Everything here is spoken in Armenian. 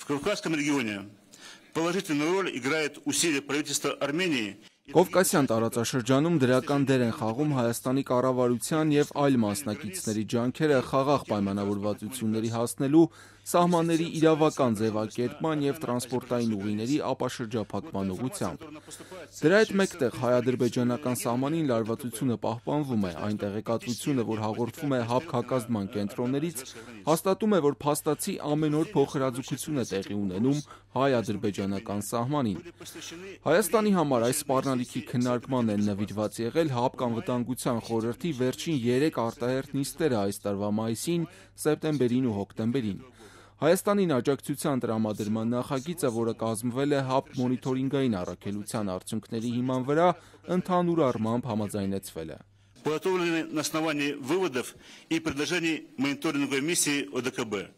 В Кавказском регионе положительную роль играет усилия правительства Армении. Կովկասյան տարածաշրջանում դրական դեր են խաղում Հայաստանի կառավարության եւ այլ մասնակիցների ջանքերը խաղաղ պայմանավորվածությունների հասնելու, սահմանների իրավական ձևակերպման եւ տրանսպորտային ուղիների ապաշրջափակման ուղղությամբ։ Դրա հետ մեկտեղ հայ-ադրբեջանական սահմանին լարվածությունը պահպանվում է, այն տեղեկատվությունը, որ հաղորդվում է հապկ-հակազդման կենտրոններից, հաստատում է, որ փաստացի ամեն օր փոխհրաձգություն է տեղի ունենում հայ-ադրբեջանական սահմանին։ Հայաստանի համար այս սպառնալիքի քննարկման են նվիրված եղել ՀԱՊԿ անվտանգության խորհրդի վերջին 3 արտահերթ նիստերը այս տարվա մայիսին, սեպտեմբերին ու հոկտեմբերին։ Հայաստանին աջակցության տրամադրման նախագիծը, որը կազմվել է ՀԱՊԿ մոնիթորինգային առաքելության արդյունքների հիման վրա, ընդհանուր առմամբ համաձայնեցվել է։ Подготовлены на основании выводов и предложений мониторинговой миссии ОДКБ.